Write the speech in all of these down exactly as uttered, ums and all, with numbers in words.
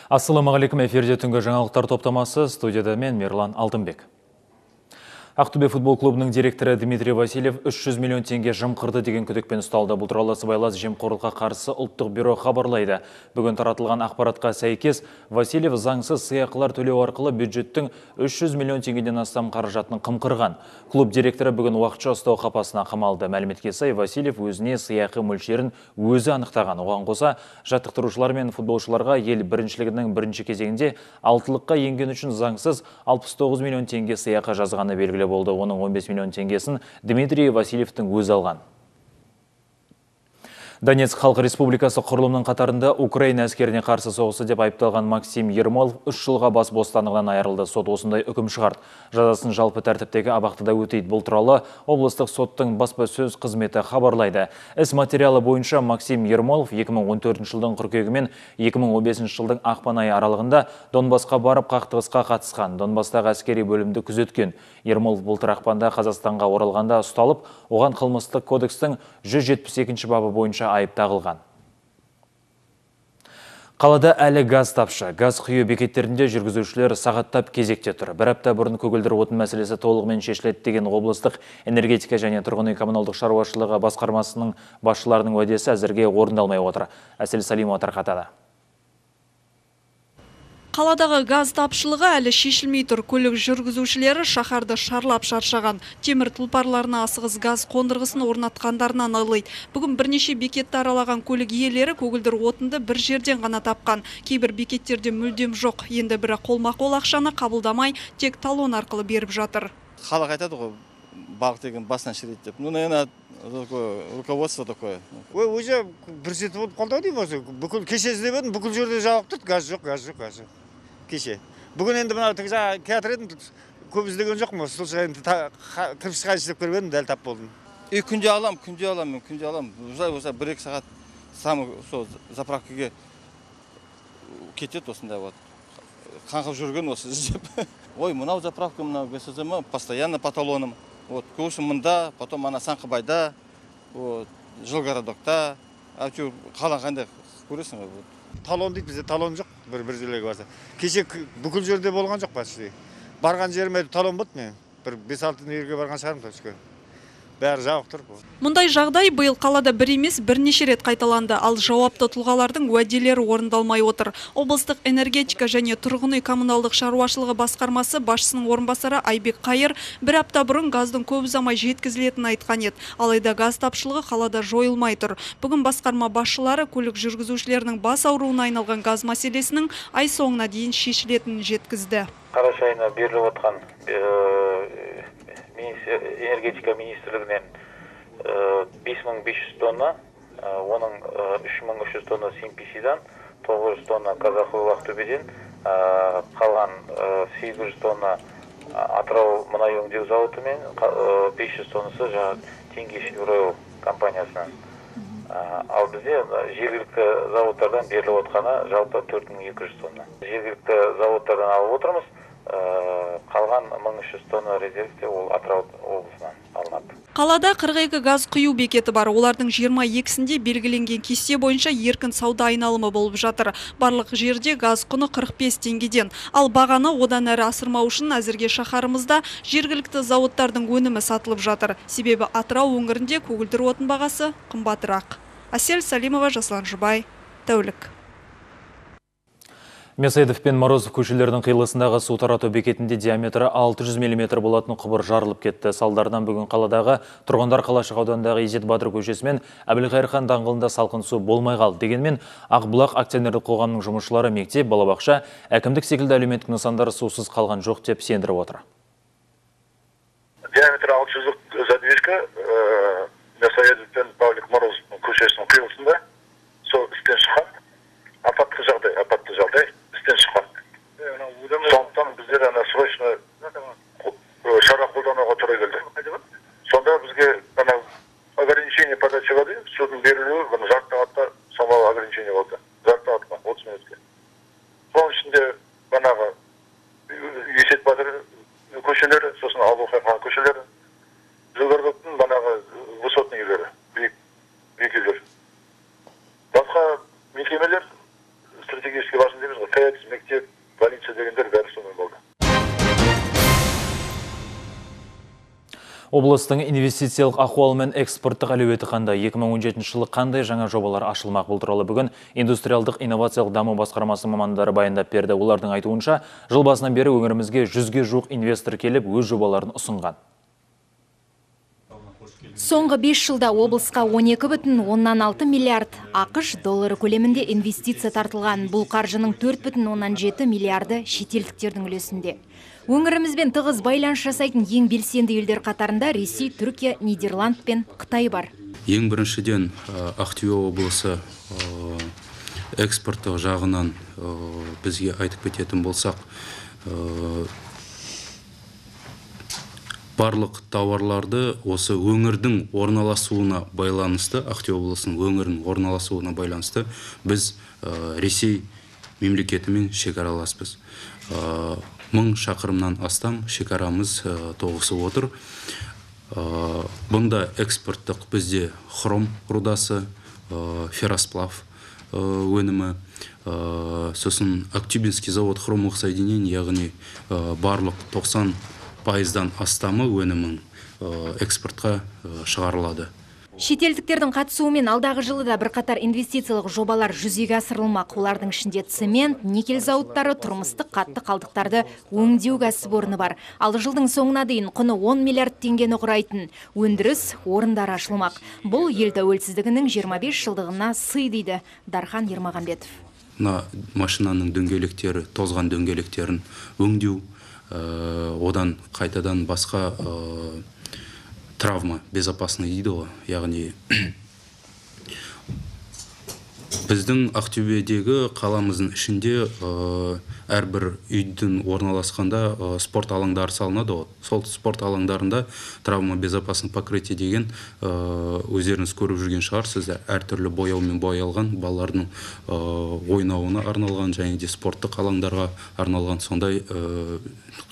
Ассаламағалейкум, эфирде түнгі жаңалықтар топтамасы, студияда мен Мерлан Алтынбек. Ақтөбе футбол клубының директоры Дмитрий Васильев үш жүз миллион теңге жымқырды деген күдікпен ұсталды. Бұл туралы сыбайлас жемқорлыққа қарсы ұлттық бюро хабарлайды. Бүгін таратылған ақпаратқа сәйкес, Васильев заңсыз сыйақылар төлеу арқылы бюджеттің үш жүз миллион теңгеден астам қаражатын қымқырған. Клуб директоры бүгін уақытша ұстау қапасына қамалды. Мәліметке сай, Васильев өзіне сыйақы мөлшерін өзі анықтаған. Оған қоса, жаттықтырушылар мен футболшыларға ел біріншілігінің бірінші кезеңінде алтылыққа енген үшін заңсыз алпыс тоғыз миллион теңге сыйақы жазғаны белгілі болды. Оның он бес миллион теңгесін Дмитрий Васильевтің өзі алған. Донецк Халық Республикасы құрылымның қатарында Украина әскеріне қарсы соғысы деп айыпталған Максим Ермолов үш жылға бас бостандығынан айырылды. Сот осындай үкім шығарды. Жазасын жалпы тәртіптегі абақтыда өтейді. Бұл туралы облыстық соттың баспасөз қызметі хабарлайды. Іс материалы бойынша Максим Ермолов екі мың он төртінші жылдың қыркүйегі мен екі мың он бесінші жылдың ақпан айы аралығында Донбасқа барып қақтығысқа қатысқан. Донбастағы әскери бөлімді күзеткен. Ермолов былтыр ақпанда Қазақстанға оралғанда ұсталып, оған қылмыстық кодекстің жүз жетпіс екінші бабы бойынша айып тағылған. Қалада әлі газ тапшы. Газ құю бекеттерінде жүргізушілер сағаттап кезекте тұр. Бір апта бұрын көгілдір отын мәселесі толығымен шешіледі деген облыстық энергетика және тұрғын үй коммуналдық шаруашылығы басқармасының басшыларының уәдесі әзірге орындалмай отыр. Әсел Салимова тарқатады. Қаладағы газ тапшылығы әлі шешілмей тұр. Көлік жүргізушілері шаһарды шарлап шаршаған. Темір тұлпарларына асығыс газ қондырғысын орнатқандарынан айлайды. Бүгін бірнеше бекетті аралаған көлік иелері көгілдір отынды бір жерден ғана тапқан. Кейбір бекеттерде мүлдем жоқ. Енді бірі қолма-қол ақшаны қабылдамай, тек талон арқылы беріп жатыр. Халық айтады ғой, балық деген басынан шірейді деп. Ну, наверное, руководство такое. Ой, уже бір сеті болып қалды деймін осы. Бүкіл кеше іздеп едім, бүкіл жерде жауып тұрды. Газ жоқ, газ жоқ, газ жоқ. Кеше. Бүгін енді мына жаңа театр едім, көп іздеген жоқпын. Сол шығайын кіріп шығайын істеп көріп едім, дәл тап болдым. И күнде алам, күнде алам, мен күнде алам. Осылай бір-екі сағат самы сол заправкаға кетеді осындай вот. Қаңғып жүрген осы іздеп. Ой, мынау заправка, мынау ГСЗМ, постоянно по талонам. Вот, көшім мұнда, потом ана Санқыбайда, вот, Жылгородокта, әйтеуір қалан қандай көресің ғой. Талон дейді, бізде талон жоқ, бір бір жерлерге барса. Кеше бүкіл жерде болған жоқ почти. Барған жеріме талон болды мен. Бір бес-алты жерге барған шығармын точка. Бәрі жабық тұр. Мұндай жағдай биыл қалада бір емес бірнеше рет қайталанды, ал жауапты тұлғалардың уәделері орындалмай отыр. Облыстық энергетика және тұрғын үй коммуналдық шаруашылығы басқармасы басшысының орынбасары Айбек Қайыр бір апта бұрын газдың көп ұзамай жеткізілетінін айтқан еді. Алайда газ тапшылығы қалада жойылмай тұр. Бүгін басқарма басшылары көлік жүргізушілерінің бас ауруына айналған газ мәселесінің ай соңына дейін шешілетінін жеткізді. Қараша айына беріліп отқан энергетика министрлігінен бес мың бес жүз тонна, оның үш мың үш жүз тонна Симписидан, тоғыз жүз тонна Казахойл Ақтөбеден, қалған сегіз жүз тонна Атырау мұнай өңдеу зауыты мен бес жүз тоннасы Теңгеш-Евройл компаниясынан. Ал бізде жергілікті заводтардан беріліп отқаны жалпы төрт мың екі жүз тонна. Жергілікті заводтардан алып отырмыз. Қалған мың үш жүз тонна резервте ол Атырау облысынан алынады. Қалада қырық екі газ құю бекеті бар. Олардың жиырма екісінде белгіленген кесте бойынша еркін сауда айналымы болып жатыр. Барлық жерде газ құны қырық бес теңгеден. Ал бағаны одан әрі асырмау үшін әзірге шаһарымызда жергілікті заводтардың өнімі сатылып жатыр. Себебі Атырау өңірінде көгілдір отын бағасы қымбатырақ. Әсел Салимова, Жаслан Жұбай, тәулік. Месайдов пен Морозов көшелерінің қиылысындағы су тарату бекетінде диаметрі алты жүз миллиметр болатын құбыр жарылып кетті. Салдарынан бүгін қаладағы тұрғындар Қалашық ауданындағы Изет Батыр көшесі мен Әбілқайыр хан даңғылында салқын су болмай қалды. Дегенмен Ақбұлақ акционерлік қоғамының жұмысшылары мектеп, балабақша, әкімдік секілді әлеуметтік нысандар сусыз қалған жоқ деп сендіріп отыр. Диаметрі алты жүздік задвижка Месайдов пен Павлик Морозов көшесінің қиылысында сол істен шыққан. Апатты жағдай, апатты жағдай. Сондықтан біздер ана срочно шара қолдануға тура келді. Сонда бізге ана ограничение подачи воды, судың берілуі жарты сағатта самал ограничение болды. Жарты сағатқа, отыз минутке. Соның ішінде банағы Есет Батыр көшелері, сосын Әбілқайыр хан көшелері, Жылгородоктың банағы высотный үйлері, биік үйлер. Басқа мекемелер стратегически важны дейміз ғой, Облыстың инвестициялық ахуалы мен экспорттық әлеуеті қандай? екі мың он жетінші жылы қандай жаңа жобалар ашылмақ? Бұл туралы бүгін индустриалдық инновациялық даму басқармасы мамандары баяндап берді. Олардың айтуынша, жыл басынан бері өңірімізге жүзге жуық инвестор келіп, өз жобаларын ұсынған. Соңғы бес жылда облысқа он екі бүтін оннан алты миллиард ақш доллары көлемінде инвестиция тартылған. Бұл қаржының төрт бүтін оннан жеті миллиарды шетелдіктердің үлесінде. Өңірімізбен тығыз байланыс жасайтын ең белсенді елдер қатарында Ресей, Түркия, Нидерланд пен Қытай бар. Ең біріншіден Ақтөбе облысы экспорттық жағынан бізге айтып кететін болсақ, барлық тауарларды осы өңірдің орналасуына байланысты, Ақтөбе облысының өңірінің орналасуына байланысты біз Ресей мемлекетімен шекараласпыз. Мың шақырымнан астам шекарамыз тоғысып отыр. Бұнда экспорттық бізде хром рудасы, ферросплав өнімі, сосын Актюбинский завод хромовых соединений, яғни барлық тоқсан пайыздан астамы өнімін экспортқа шығарылады. Шетелдіктердің қатысуымен алдағы жылы да бірқатар инвестициялық жобалар жүзеге асырылмақ. Олардың ішінде цемент, никель зауыттары, тұрмыстық қатты қалдықтарды өңдеу кәсіпорны бар. Ал жылдың соңына дейін құны он миллиард теңгені құрайтын өндіріс орындары ашылмақ. Бұл ел тәуелсіздігінің жиырма бес жылдығына сый дейді Дархан Ермағанбетов. Мына машинаның дөңгелектері, тозған дөңгелектерін өңдеу, одан қайтадан басқа травма безопасный дейді ғой, яғни біздің Ақтөбедегі қаламыздың ішінде әрбір үйдің орналасқанда спорт алаңдары салынады. Сол спорт алаңдарында травма безопасный покрытие деген өздеріңіз көріп жүрген шығарсыздар. Әртүрлі бояумен боялған балалардың ойнауына арналған және де спорттық алаңдарға арналған сондай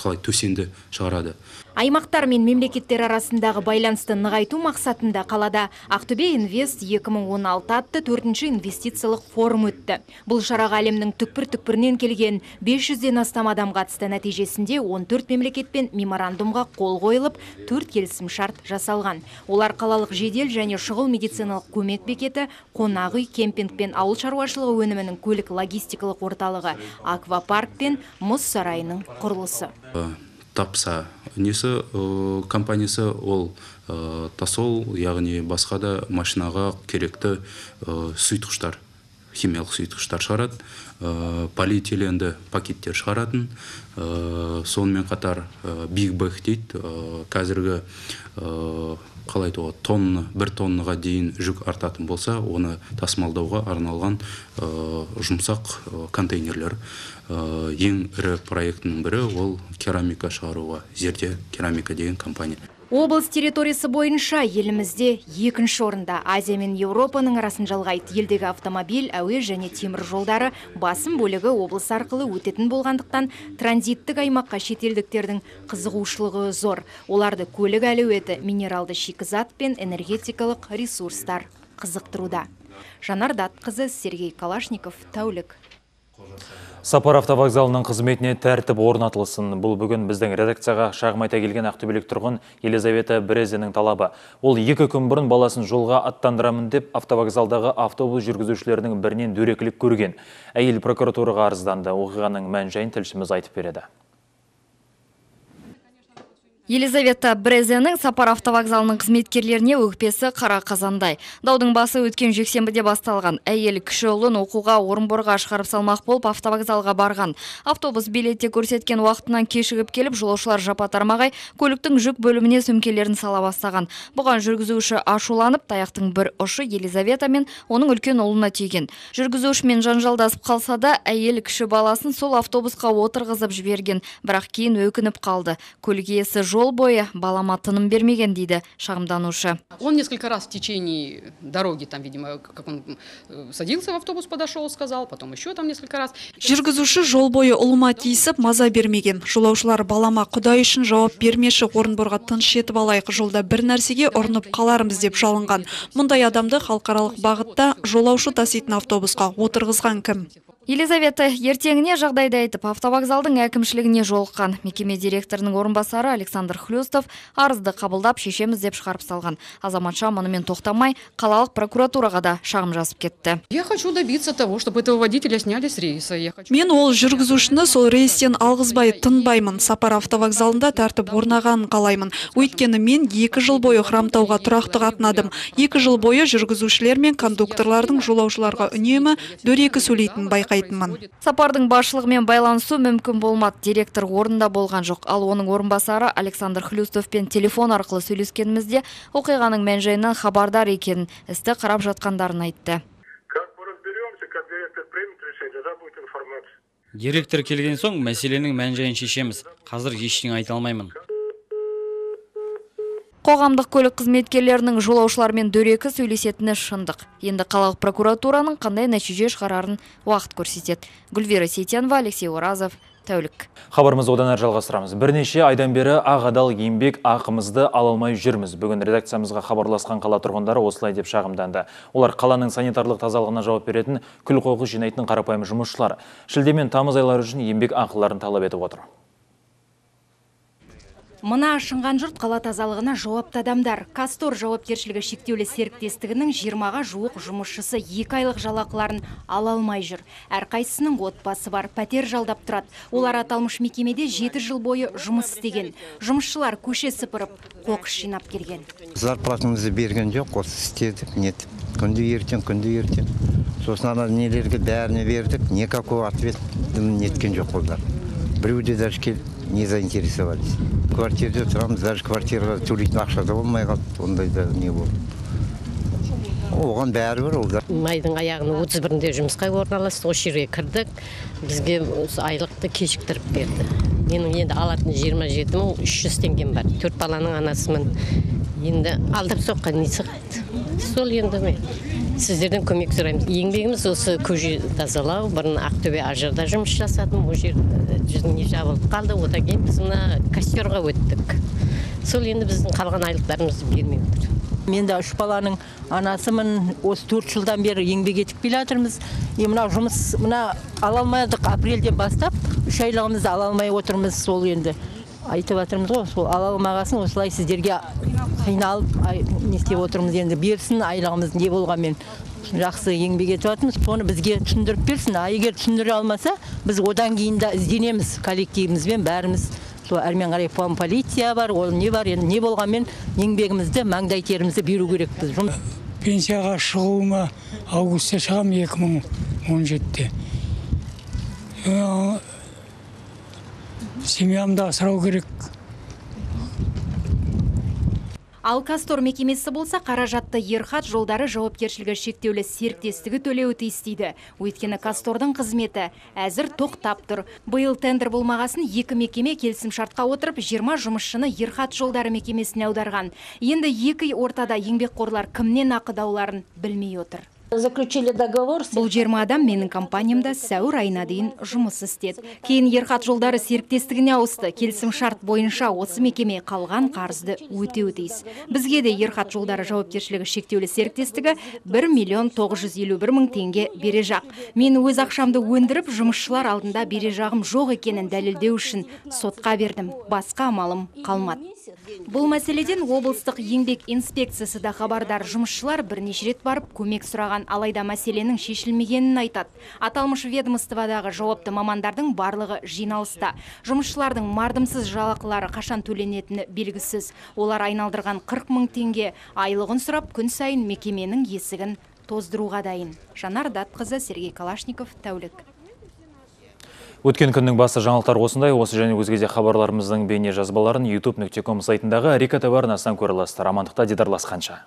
қалай төсенді шығарады. Аймақтар мен мемлекеттер арасындағы байланысты нығайту мақсатында қалада Ақтөбе Инвест екі мың он алты атты төртінші инвестициялық форум өтті. Бұл шараға әлемнің түкпір-түкпірінен келген бес жүзден астам адам қатысты. Нәтижесінде он төрт мемлекетпен меморандумға қол қойылып, төрт келісім шарт жасалған. Олар қалалық жедел және шұғыл медициналық көмек бекеті, қонақ үй, кемпинг пен ауыл шаруашылығы өнімінің көлік логистикалық орталығы, аквапарк пен мұз сарайының құрылысы. Тапса несі компаниясы ол тасол, яғни басқа да машинаға керекті сұйытқыштар, химиялық сұйытқыштар шығарады, полиэтиленді пакеттер шығаратын, сонымен қатар биг бэг дейді, қазіргі қалай айтуға тонны, бір тонныға дейін жүк артатын болса, оны тасымалдауға арналған жұмсақ контейнерлер. Ең ірі проектінің бірі ол керамика шығаруға, Зерде керамика деген компания. Облыс территориясы бойынша елімізде екінші орында. Азия мен Еуропаның арасын жалғайды. Елдегі автомобиль, әуе және темір жолдары басым бөлігі облыс арқылы өтетін болғандықтан транзиттік аймаққа шетелдіктердің қызығушылығы зор. Оларды көлік әлеуеті, минералды шикізат пен энергетикалық ресурстар қызықтыруда. Жанар Датқызы, Сергей Калашников, Тәулік. Сапар автовокзалының қызметіне тәртіп орнатылсын. Бұл бүгін біздің редакцияға шағым айта келген ақтөбелік тұрғын Елизавета Брезенің талабы. Ол екі күн бұрын баласын жолға аттандырамын деп автовокзалдағы автобус жүргізушілерінің бірінен дөрекілік көрген. Әйел прокуратураға арызданды. Оқиғаның мән-жайын тілшіміз айтып береді. Елизавета Брезенің Сапар автовокзалының қызметкерлеріне өкпесі қара қазандай. Даудың басы өткен жексенбіде басталған. Әйел кіші ұлын оқуға Орынборға шығарып салмақ болып автовокзалға барған. Автобус билетте көрсеткен уақытынан кешігіп келіп, жолаушылар жапа-тармағай көліктің жүк бөліміне сөмкелерін сала бастаған. Бұған жүргізуші ашуланып, таяқтың бір ұшы Елизавета мен оның үлкен ұлына тиген. Жүргізушімен жанжалдасып қалса да, әйел кіші баласын сол автобусқа отырғызып жіберген, бірақ кейін өкініп қалды. Көлік иесі жол бойы балама тыным бермеген дейді шағымданушы. Он несколько раз в течение дороги, там, видимо, как он садился в автобус, подошел, сказал, потом еще там несколько раз. Жүргізуші жол бойы ұлыма тиісіп, маза бермеген. Жолаушылар балама Құдай үшін жауап бермеші, Орынборға тыныш етіп алайық, жолда бір нәрсеге ұрынып қаларымыз деп жалынған. Мұндай адамды халықаралық бағытта жолаушы таситын автобусқа отырғызған кім? Елизавета ертеңіне жағдайды айтып, автовокзалдың әкімшілігіне жолыққан. Мекеме директорының орынбасары Александр Александр Хлюстов арызды қабылдап шешеміз деп шығарып салған. Азаматша мұнымен тоқтамай, қалалық прокуратураға да шағым жазып кетті. Я хочу добиться того, чтобы этого водителя сняли с рейса. Я хочу... Мен ол жүргізушіні сол рейстен алғызбай тынбаймын. Сапар автовокзалында тәртіп орнағанын қалаймын. Өйткені мен екі жыл бойы Хромтауға тұрақты қатынадым. Екі жыл бойы жүргізушілер мен кондукторлардың жолаушыларға үнемі дөрекі сөйлейтінін байқайтынмын. Сапардың басшылығымен байланысу мүмкін болмады. Директор орында болған жоқ. Ал оның орынбасары Александр Хлюстовпен телефон арқылы сөйлескенімізде оқиғаның мән-жайынан хабардар екенін, істі қарап жатқандарын айтты. Директор келген соң мәселенің мән-жайын шешеміз. Қазір ештеңе айта алмаймын. Қоғамдық көлік қызметкерлерінің жолаушылармен дөрекі сөйлесетіні шындық. Енді қалалық прокуратураның қандай нәтиже шығарарын уақыт көрсетеді. Гүлвира Сейтенова, Алексей Оразов, тәулік. Хабарымызды одан әрі жалғастырамыз. Бірнеше айдан бері ақ адал еңбек ақымызды ала алмай жүрміз. Бүгін редакциямызға хабарласқан қала тұрғындары осылай деп шағымданды. Олар қаланың санитарлық тазалығына жауап беретін күл қоқыс жинайтын қарапайым жұмысшылар. Шілде мен тамыз айлары үшін еңбек ақыларын талап етіп отыр. Мына ашынған жұрт қала тазалығына жауапты адамдар. Кастор жауапкершілігі шектеулі серіктестігінің жиырмаға жуық жұмысшысы екі айлық жалақыларын ала алмай жүр. Әрқайсысының отбасы бар, пәтер жалдап тұрады. Олар аталмыш мекемеде жеті жыл бойы жұмыс істеген. Жұмысшылар көше сыпырып, қоқыс жинап келген. Зарплатымызды берген жоқ, осы істедік, нетіп. Күнді ертең, күнді ертең. Сосын ана нелерге бәріне бердік, никакой ответ неткен жоқ олар. Біреуде даже келіп не заинтересовались. Квартирде тұрамыз, даже квартираға төлейтін ақша да болмай қалды, ондай да не болды. Оған бәрі бір олдар. Майдың аяғының отыз бірінде жұмысқа орналасты, осы жерге кірдік, бізге айлықты кешіктіріп берді. Менің енді алатын жиырма жеті мың үш жүз теңгем бар. Төрт баланың анасымын. Енді алдап соққан не сығады. Сол енді мен сіздерден көмек сұраймыз. Еңбегіміз осы көше тазалау, бұрын Ақтөбе ажарда жұмыс жасадым, ол жер жүзіне жабылып қалды, одан кейін біз мына костерға өттік. Сол енді біздің қалған айлықтарымызды бермей отыр. Мен де үш баланың анасымын, осы төрт жылдан бері еңбек етіп келе жатырмыз. Мына жұмыс мына ала алмадық, апрельден бастап үш айлығымызды ала алмай отырмыз. Сол енді айтып жатырмыз ғой, сол ала алмағасын осылай сіздерге қиналып не істеп отырмыз, енді берсін айлығымыз не болғанмен жақсы еңбек етіп жатырмыз. Соны бізге түсіндіріп берсін. А егер түсіндіре алмаса, біз одан кейін де ізденеміз коллективімізбен бәріміз. Сол әрмен қарай полиция бар, ол не бар, енді не болғанмен еңбегімізді, маңдай терімізді беру керекпіз. Пенсияға шығуыма августта шығам екі мың он жетіде. Семьямды асырау керек. Ал Кастор мекемесі болса қаражатты Ерхат жолдары жауапкершілігі шектеулі серіктестігі төлеуі тиіс дейді. Өйткені Кастордың қызметі әзір тоқтап тұр. Биыл тендер болмағасын екі мекеме келісімшартқа отырып жиырма жұмысшыны Ерхат жолдары мекемесіне аударған. Енді екі ортада еңбекқорлар кімнен ақыдауларын білмей отыр. Бұл жиырма адам менің компаниямда сәуір айына дейін жұмыс істеді. Кейін Ерхат жолдары серіктестігіне ауысты. Келісім шарт бойынша осы мекеме қалған қарызды өтеуі тиіс. Бізге де Ерхат жолдары жауапкершілігі шектеулі серіктестігі бір миллион тоғыз жүз елу бір мың теңге бере жақ. Мен өз ақшамды өндіріп, жұмысшылар алдында бере жағым жоқ екенін дәлелдеу үшін сотқа бердім. Басқа амалым қалмады. Бұл мәселеден облыстық еңбек инспекциясы да хабардар. Жұмысшылар бірнеше рет барып көмек сұраған, алайда мәселенің шешілмегенін айтады. Аталмыш ведомстводағы жауапты мамандардың барлығы жиналыста. Жұмысшылардың мардымсыз жалақылары қашан төленетіні белгісіз. Олар айналдырған қырық мың теңге айлығын сұрап, күн сайын мекеменің есігін тоздыруға дайын. Жанар Датқызы, Сергей Калашников, тәулік. Өткен күннің басты жаңалықтар осындай. Осы және өзге де хабарларымыздың бейне жазбаларын ютуб нүкте ком сайтындағы Рика ТВ арнасынан көре аласыздар. Амандықта дидарласқанша.